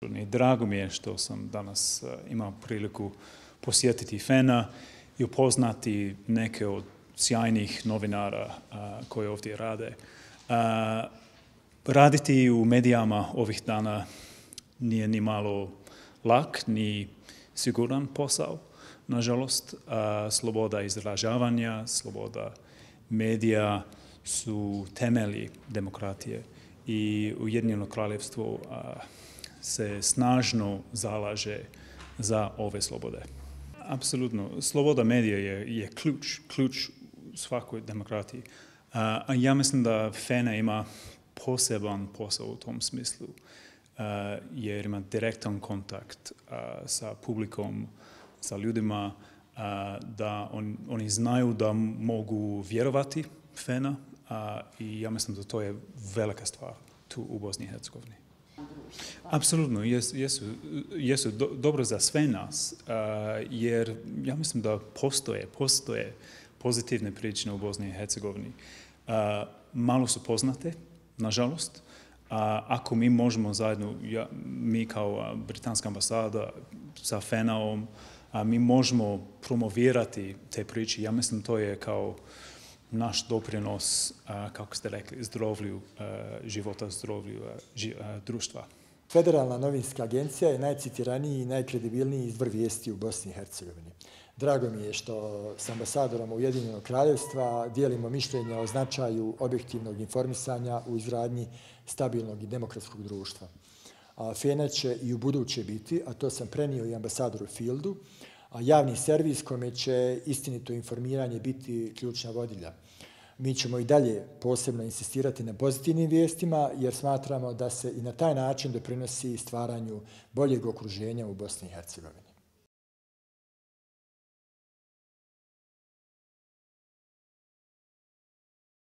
Drago mi je što sam danas imao priliku posjetiti FENA i upoznati neke od sjajnih novinara koji ovdje rade. Raditi u medijama ovih dana nije ni malo lak, ni siguran posao. Nažalost, sloboda izražavanja, sloboda medija su temelji demokratije i Ujedinjeno Kraljevstvo se snažno zalaže za ove slobode. Apsolutno, sloboda medija je ključ svakoj demokratiji. A ja mislim da FENA ima poseban posao u tom smislu, jer ima direktan kontakt sa publikom, sa ljudima, da oni znaju da mogu vjerovati FENA i ja mislim da to je velika stvar tu u Bosni i Hercegovini. Apsolutno, jesu dobro za sve nas, jer ja mislim da postoje pozitivne priče u Bosni i Hercegovini. Malo su poznate, nažalost. Ako mi možemo zajedno, mi kao Britanska ambasada sa FENA-om, mi možemo promovirati te priče. Ja mislim to je kao naš doprinos, kako ste rekli, zdravlju života, zdravlju društva. Federalna novinska agencija je najcitiraniji i najkredibilniji izvor vijesti u Bosni i Hercegovini. Drago mi je što s ambasadorom Ujedinjenog Kraljevstva dijelimo mišljenja o značaju objektivnog informisanja u izgradnji stabilnog i demokratskog društva. FENA će i u buduće biti, a to sam prenio i ambasadoru Fieldu, javni servis kome će istinito informiranje biti ključna vodilja. Mi ćemo i dalje posebno insistirati na pozitivnim vijestima jer smatramo da se i na taj način doprinosi stvaranju boljeg okruženja u Bosni i Hercegovini.